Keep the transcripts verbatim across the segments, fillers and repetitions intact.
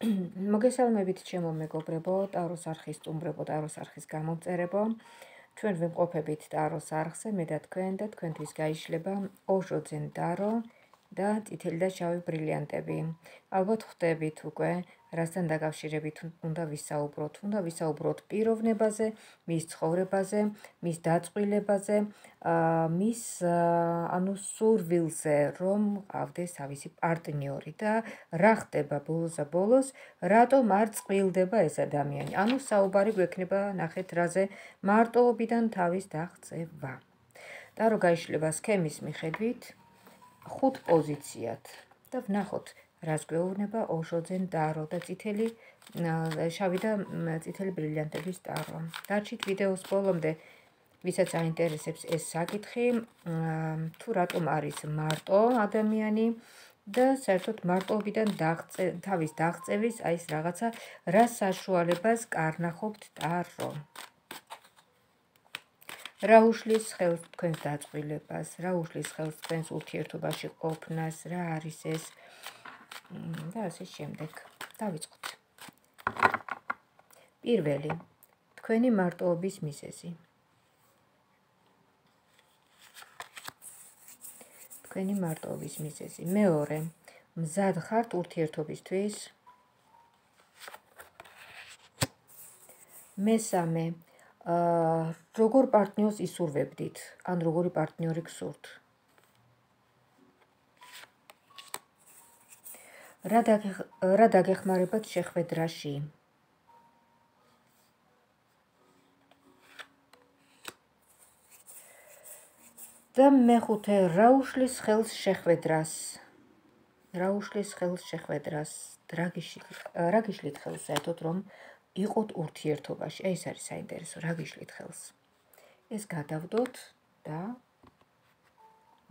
მოგესალმებით ჩემო მეგობრებო, ტაროს არხის სტუმრებო, ტაროს არხის გამომწერებო. ჩვენ ვიმყოფებით ტაროს არხზე, მე და თქვენ და თქვენთვის გაიშლება ოჟო ძენ ტარო და წითელი და შავი ბრილიანტები. ალბათ ხვდებით უკვე, რასთან დაკავშირებით უნდა ვისაუბროთ. უნდა ვისაუბროთ პიროვნებაზე, მის ცხოვრებაზე, მის დაწყვილებაზე, მის ანუ სურვილზე, რომ ყავდეს თავისი პარტნიორი და რა ხდება ბოლოსა ბოლოს, რატომ არ წყვილდება ეს ადამიანი. ანუ საუბარი გვექნება ნახეთ რაზე მარტოობიდან თავის დაღწევა. ტარო გაიშლება სქემის მიხედვით ხუთ პოზიციად და ვნახოთ რას გვეუბნება ოჟო ძენ ტარო და წითელი შავი და წითელი ბრილიანტების ტარო. დარჩით ვიდეოს ბოლომდე, ვისაც აინტერესებს ეს საკითხი, თუ რატომ არის მარტო ადამიანი და საერთოდ მარტოობიდან თავის დაღწევის აი ეს რაღაცა რა საშუალებას კარნახობთ ტარო. რა უშლის ხელს თქვენს დაწყვილებას, რა უშლის ხელს თქვენს ურთიერთობაში ყოფნას, რა არის ეს და ასე შემდეგ. დავიწყოთ. პირველი, თქვენი მარტოობის მიზეზი. თქვენი მარტოობის მიზეზი. მეორე, მზად ხართ ურთიერთობისთვის. მესამე, როგორ პარტნიორს ისურვებდით, ან როგორი პარტნიორი გსურთ. რა დაგეხმარებათ შეხვედრაში. და მეხუთე, რა უშლის ხელს შეხვედრას. რა უშლის ხელს შეხვედრას. რა გიშლით ხელს საერთოდ რომ იყოთ ურთიერთობაში. ეს არის საინტერესო, რა გიშლით ხელს. ეს გადავდოთ და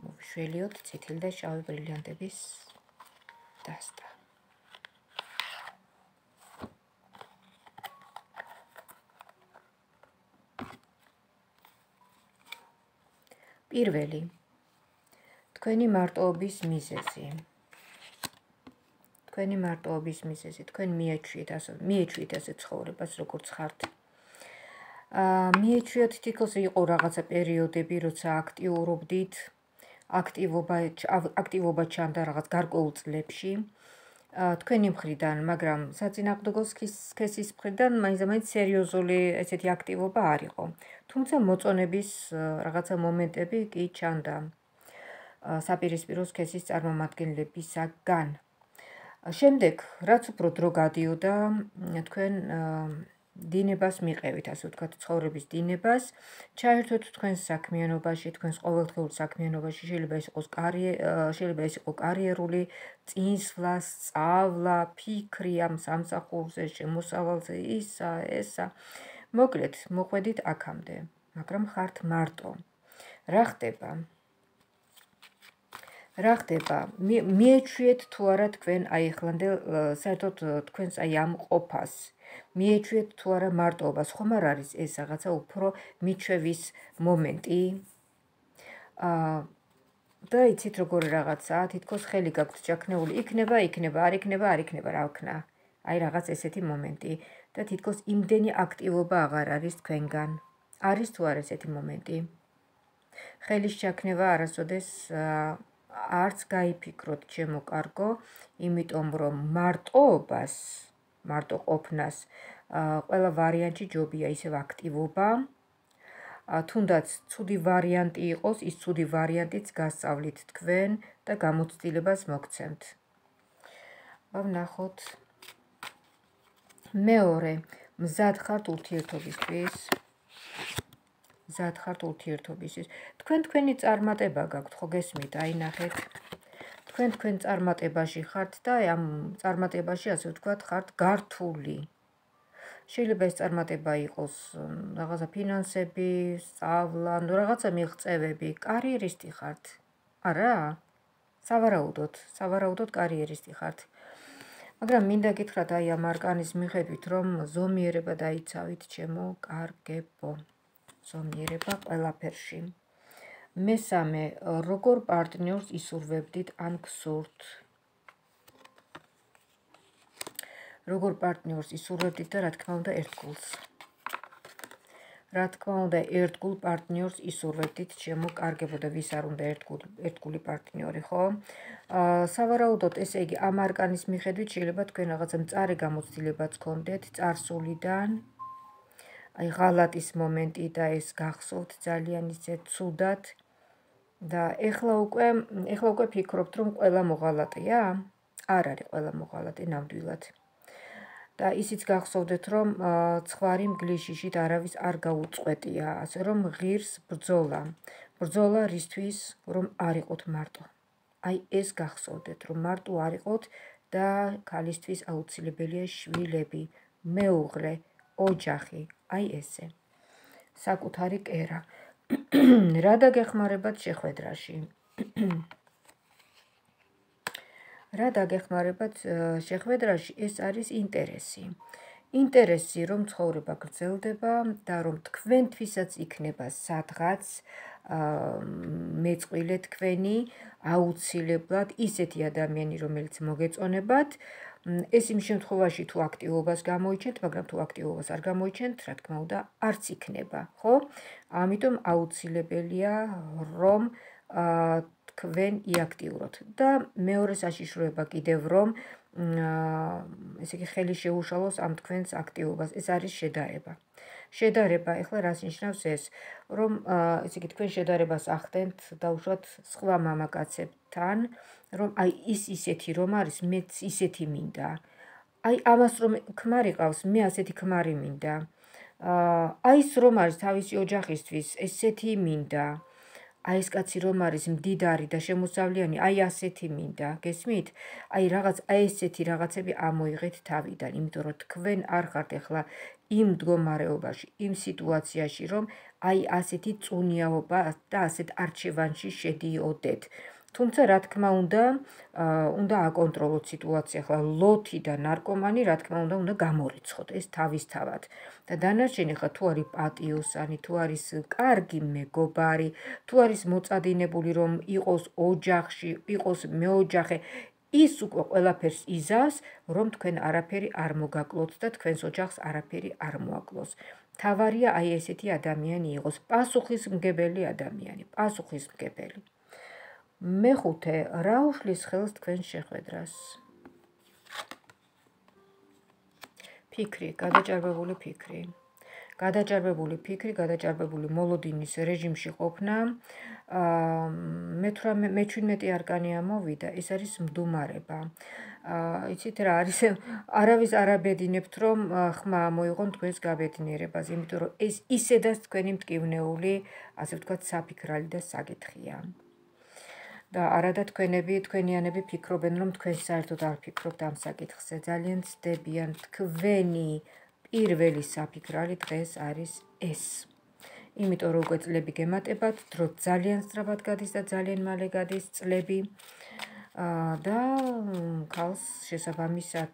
მოვშველიოთ წითელი და შავი ბრილიანტების დასტა. პირველი, თქვენი მარტოობის მიზეზი. თქვენი მარტოობის მიზეზი, თქვენ მიეჩვიეთ ასე, მიეჩვიეთ ასე ცხოვრებას, როგორც ხართ. მიეჩვიეთ თითქოს იყო რაღაცა პერიოდები, როცა აქტიურობდით, აქტივობა აქტივობა ჩანდა რაღაც გარკვეულ წლებში. თქვენი მხრიდან, მაგრამ საწინააღმდეგო სქესის მხრიდან მაინც-მაინც სერიოზული ესეთი აქტივობა არ იყო. თუმცა მოწონების რაღაცა მომენტები კი ჩანდა საპირისპირო სქესის წარმომადგენლებისაგან. შემდეგ, რაც უფრო დრო გადიოდა, თქვენ დინებას მიყევით, ასე ვთქვათ, ცხოვრების დინებას, ჩაერთვეთ თქვენს საქმიანობაში, თქვენს ყოველდღიურ საქმიანობაში, შეიძლება ეს იყოს შეიძლება ეს იყო კარიერული წინსვლა, სწავლა, ფიქრი ამ სამსახურზე, შემოსავალზე, ისა, ესა. მოკლედ, მოყვედით აქამდე, მაგრამ ხართ მარტო. რა ხდება? რა ხდება? მიეჩვიეთ თუ არა თქვენ აი ახლანდელ საერთოდ თქვენს აი ამ ყოფას. მიეჩვიეთ თუ არა მარტოობას, ხომ არ არის ეს რაღაცა უფრო მიჩვევის მომენტი? და იცით როგორი რაღაცაა, თითქოს ხელი გაქვთ ჩაქნეული, იქნება, იქნება, არ იქნება, არ იქნება, რა ვქნა. აი რაღაც ესეთი მომენტი და თითქოს იმდენი აქტივობა აღარ არის თქვენგან. არის თუ არა ესეთი მომენტი? ხელის ჩაქნება არასოდეს არც გაიფიქროთ, ჩემო კარგო, იმიტომ რომ მარტოობას, მარტო ყოფნას ყველა ვარიანტი ჯობია ისევ აქტივობა. თუნდაც ცუდი ვარიანტი იყოს, ის ცუდი ვარიანტიც გასწავლით თქვენ და გამოცდილებას მოგცემთ. ვნახოთ. მეორე, მზად ხართ ურთიერთობისთვის. მზად ხართ ურთიერთობისთვის. თქვენ თქვენი წარმატება გაქვთ, ხო გესმით, აი ნახეთ. თქვენ თქვენ წარმატებაში ხართ და ამ წარმატებაში, ასე ვთქვათ, ხართ გართული. შეიძლება ეს წარმატება იყოს რაღაცა ფინანსები, სწავლა, ნუ რაღაცა მიღწევები, კარიერისტი ხართ. არა? სავარაუდოდ, სავარაუდოდ კარიერისტი ხართ. მაგრამ მინდა გითხრათ აი ამ არკანის მიხედვით, რომ ზომიერება დაიცავით, ჩემო კარგებო. ზომიერება ყველაფერში. მესამე, როგორ პარტნიორს ისურვებდით ან გსურთ. როგორ პარტნიორს ისურვებდით და რა თქმა უნდა ერთგულს. რა თქმა უნდა ერთგულ პარტნიორს ისურვებდით, ჩემო კარგებო და ვის არ უნდა ერთგული, ერთგული პარტნიორი, ხო? სავარაუდოდ ესე იგი ამ არკანის მიხედვით შეიძლება თქვენ რაღაცა მწარე გამოცდილებაც გქონდეთ წარსულიდან. აი ღალატის მომენტი და ეს გახსოვთ ძალიან ისე ცუდად და ეხლა უკვე ეხლა უკვე ფიქრობთ რომ ყველა მოღალატეა? არ არის ყველა მოღალატე ნამდვილად. და ისიც გახსოვდეთ რომ ცხვარი მგლიშიშით არავის არ გაუწყვეტია, ასე რომ ღირს ბრძოლა. ბრძოლა რისთვის რომ არ იყოთ მარტო. აი ეს გახსოვდეთ რომ მარტო არ იყოთ და ქალისთვის აუცილებელია შვილები, მეუღლე, ოჯახი, აი ესე. საკუთარი კერა. რა დაგეხმარებათ შეხვედრაში? რა დაგეხმარებათ შეხვედრაში? ეს არის ინტერესი. ინტერესი რომ ცხოვრება გრძელდება და რომ თქვენთვისაც იქნება სადღაც მეწყვილე თქვენი აუცილებლად ისეთი ადამიანი რომელიც მოგეწონებათ. ეს იმ შემთხვევაში თუ აქტივობას გამოიჩენთ, მაგრამ თუ აქტივობას არ გამოიჩენთ, რა თქმა უნდა, არც იქნება, ხო? ამიტომ აუცილებელია რომ თქვენ იაქტიუროთ და მეორე საშიშროება კიდევ რომ ესე იგი ხელი შეუშალოს ამ თქვენს აქტივობას. ეს არის შედარება. შედარება, ეხლა რას ნიშნავს ეს? რომ ესე იგი თქვენ შედარებას ახდენთ დაუშვათ სხვა მამაკაცებთან, რომ აი ის ისეთი რომ არის, მეც ისეთი მინდა. აი ამას რომ ქმარი ყავს, მე ასეთი ქმარი მინდა. აი ის რომ არის თავისი ოჯახისთვის, ესეთი მინდა. აი ეს კაცი რომ არის მდიდარი და შემოსავლიანი, აი ასეთი მინდა, გესმით? აი რაღაც აი ესეთი რაღაცები ამოიღეთ თავიდან, იმიტომ რომ თქვენ არ ხართ ახლა იმ მდგომარეობაში, იმ სიტუაციაში, რომ აი ასეთი წუნიაობა და ასეთ არჩევანში შედიოდეთ. თუმცა რა თქმა უნდა, უნდა აკონტროლოთ სიტუაცია, ახლა ლოთი და ნარკომანი, რა თქმა უნდა, უნდა გამორიცხოთ ეს თავისთავად. და დანარჩენი ხა თუ არის პატიოსანი, თუ არის კარგი მეგობარი, თუ არის მოწადინებული რომ იყოს ოჯახში, იყოს მეოჯახე, ის უკვე ყველაფერს იზავს, რომ თქვენ არაფერი არ მოგაკლოთ და თქვენს ოჯახს არაფერი არ მოაკლოს. თავარია აი ესეთი ადამიანი იყოს, პასუხისმგებელი ადამიანი, პასუხისმგებელი. მეხუთე, რა უშლის ხელს თქვენს შეხვედრას? ფიქრი, გადაჭარბებული ფიქრი. გადაჭარბებული ფიქრი, გადაჭარბებული მოლოდინის რეჟიმში ყოფნა. მეჩვიდმეტი არკანი ამოვიდა, ეს არის მდუმარება. იცით რა არის? არავის არ აბედინებთ რომ ხმა მოიღონ თქვენს გაბედნიერებას, იმიტომ რომ ეს ისედაც თქვენი მტკივნეული, ასე ვთქვათ, საფიქრალი და საკითხია. და არადა თქვენები, თქვენიანები ფიქრობენ რომ თქვენ საერთოდ არ ფიქრობთ ამ საკითხზე. ძალიან ცდებიან თქვენი პირველი საფიქრალი დღეს არის ეს. იმიტომ რომ უკვე წლები გემატებათ, დრო ძალიან სწრაფად გადის და ძალიან მალე გადის წლები და ქალს შესაბამისად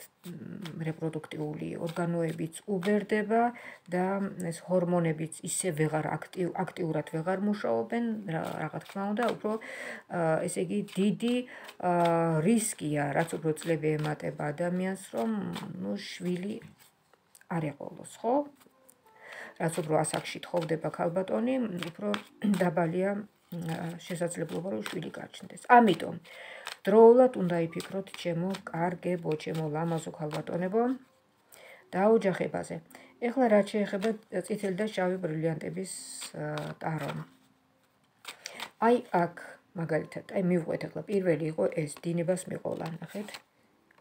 რეპროდუქტიული ორგანოებიც უბერდება და ეს ჰორმონებიც ისე ვეღარ აქტიურად ვეღარ მუშაობენ, რა თქმა უნდა, უფრო ესე იგი დიდი რისკია, რაც უფრო წლები ემატება ადამიანს, რომ ნუ შვილი არ ეყოლოს, ხო? რაც უფრო ასაკში თხოვდება ქალბატონი, უფრო დაბალია შესაძლებლობა რომ შვილი გაჩნდეს. ამიტომ დროულად უნდა იფიქროთ ჩემო კარგებო, ჩემო ლამაზო ქალბატონებო და ოჯახებაზე. ეხლა რაც შეეხება წითელი და შავი ბრილიანტების ტარო. აი აქ მაგალითად, აი მივყვეთ ახლა პირველი იყო ეს დინებას მიყოლა, ნახეთ?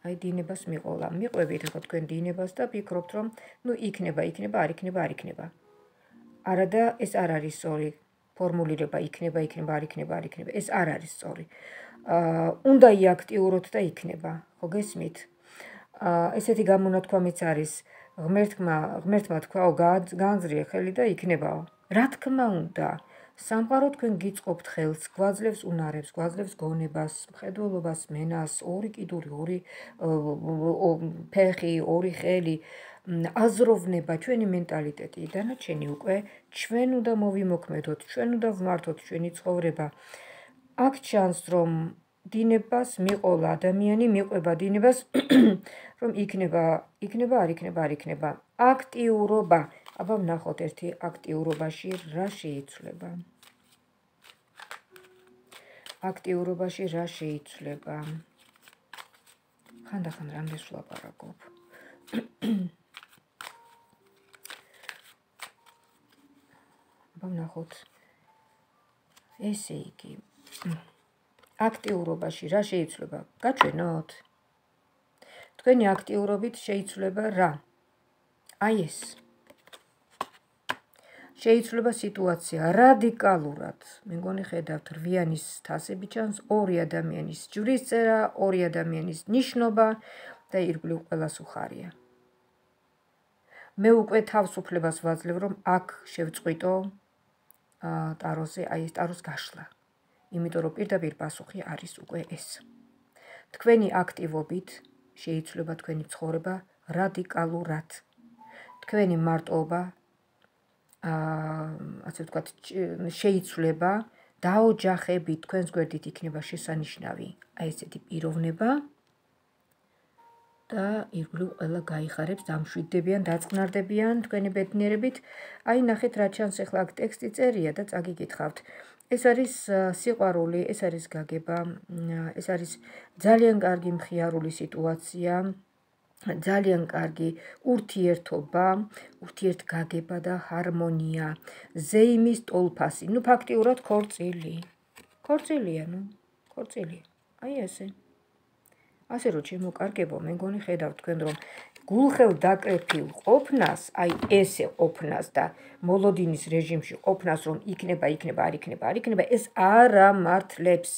აი დინებას მიყოლა. მიყვებით ახლა თქვენ დინებას და ფიქრობთ რომ ნუ იქნება, იქნება, არ იქნება, არ იქნება. არადა ეს არ არის სწორი ფორმულირება, იქნება, იქნება, არ იქნება, არ იქნება. ეს არ არის სწორი. უნდა იაქტიუროთ და იქნება, ხო გესმით? ესეთი გამონათქვამიც არის ღმერთმა, ღმერთმა თქვაო განძრიე ხელი და იქნებაო. რა თქმა უნდა, სამყარო თქვენ გიწყობთ ხელს, გვაძლევს უნარებს, გვაძლევს გონებას, მხედველობას, მენას, ორი კიდური, ორი ფეხი, ორი ხელი, აზროვნება, ჩვენი მენტალიტეტი, დანარჩენი უკვე ჩვენ უნდა მოვიმოქმედოთ, ჩვენ უნდა ვმართოთ ჩვენი ცხოვრება. აქ ჩანს რომ დინებას მიყოლა ადამიანი, მიყვება დინებას, რომ იქნება, იქნება, არ იქნება, არ იქნება. აქტიურობა. აბა ვნახოთ ერთი აქტიურობაში რა შეიცვლება. აქტიურობაში რა შეიცვლება. ხანდახან რამდენს ვლაპარაკობ. აბა ვნახოთ. ესე იგი. აქტიურობაში რა შეიცვლება? გაჩვენოთ. თქვენი აქტიურობით შეიცვლება რა? აი ეს. შეიცვლება სიტუაცია რადიკალურად. მე მგონი ხედავთ რვიანის თასები ჩანს, ორი ადამიანის ჯვრის წერა, ორი ადამიანის ნიშნობა და ირგვლივ ყველას უხარია. მე უკვე თავისუფლებას ვაძლევ, რომ აქ შევწყვიტო ტაროზე, აი ეს ტაროს გაშლა. იმიტომ რომ პირდაპირ პასუხი არის უკვე ეს. თქვენი აქტივობით შეიცვლება თქვენი ცხოვრება რადიკალურად. თქვენი მარტოობა ასე ვთქვათ, შეიცვლება დაოჯახებით, თქვენს გვერდით იქნება შესანიშნავი აი ესეთი პიროვნება და ირგვლივ ყველა გაიხარებს, დამშვიდდებიან, დაწყნარდებიან თქვენი ბედნიერებით. აი ნახეთ რა ჩანს ახლა აქ ტექსტი წერია და წაგიკითხავთ. ეს არის სიყვარული, ეს არის გაგება, ეს არის ძალიან კარგი მხიარული სიტუაცია, ძალიან კარგი ურთიერთობა, ურთიერთგაგება და ჰარმონია, ზეიმის ტოლფასი, ნუ ფაქტიურად ქორწილი. ქორწილია, ნუ, ქორწილია. აი ესე. ასე რომ ჩემო კარგებო, მე მგონი ხედავთ თქვენ რომ გულხელ დაკრეფილ ყოფნას, აი ესე ყოფნას და მოლოდინის რეჟიმში ყოფნას, რომ იქნება, იქნება, არ იქნება, არ იქნება, ეს არ ამართლებს.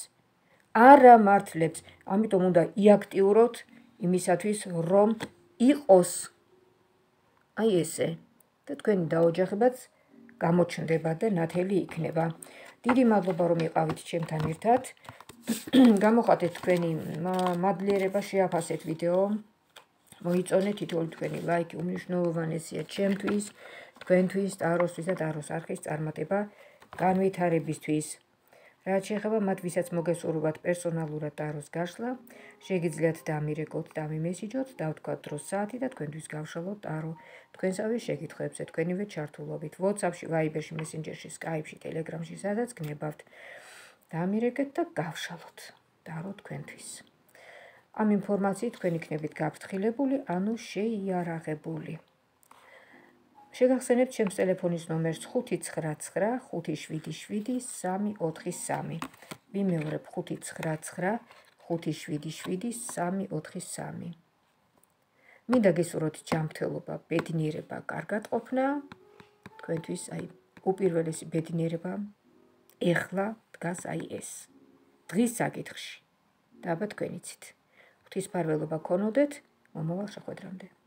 არ ამართლებს. ამიტომ უნდა იაქტიუროთ იმისათვის, რომ იყოს აი ესე. და თქვენი დაოჯახებაც გამოჩნდება და ნათელი იქნება. დიდი მადლობა რომ იყავით ჩემთან ერთად. გამოხატეთ თქვენი მადლიერება, შეაფასეთ ვიდეო. მოიწონეთ თითოეული თქვენი ლაიკი, უმნიშვნელოვანესია ჩემთვის, თქვენთვის, ტაროსთვის და ტაროს არხის წარმატება განვითარებისთვის. რაც შეეხება მათ, ვისაც მოგესურვებათ პერსონალურად ტაროს გაშლა, შეგიძლიათ დამირეკოთ, დამიმესიჯოთ, დავთქვათ დროს საათი და თქვენთვის გავშალოთ ტარო. თქვენსავე შეკითხვებზე, თქვენივე ჩართულობით, WhatsApp-ში, Viber-ში, Messenger-ში, Skype-ში, Telegram-ში, სადაც გნებავთ. დამირეკეთ და გავშალოთ ტარო თქვენთვის. ამ ინფორმაციით თქვენ იქნებით გაფრთხილებული, ანუ შეიარაღებული. შეგახსენებთ ჩემს ტელეფონის ნომერს ხუთი ცხრა ცხრა ხუთი შვიდი შვიდი სამი ოთხი სამი. ვიმეორებ ხუთი ცხრა ცხრა ხუთი შვიდი შვიდი სამი ოთხი სამი. მინდა გესურვოთ ჯანმრთელობა, ბედნიერება, კარგად ყოფნა. თქვენთვის აი უპირველესი ბედნიერება ეხლა დგას აი ეს. დღის საკითხში. და აბა თქვენ იცით. ღვთისმფარველობა ქონოდეთ, მომავალ შეხვედრამდე.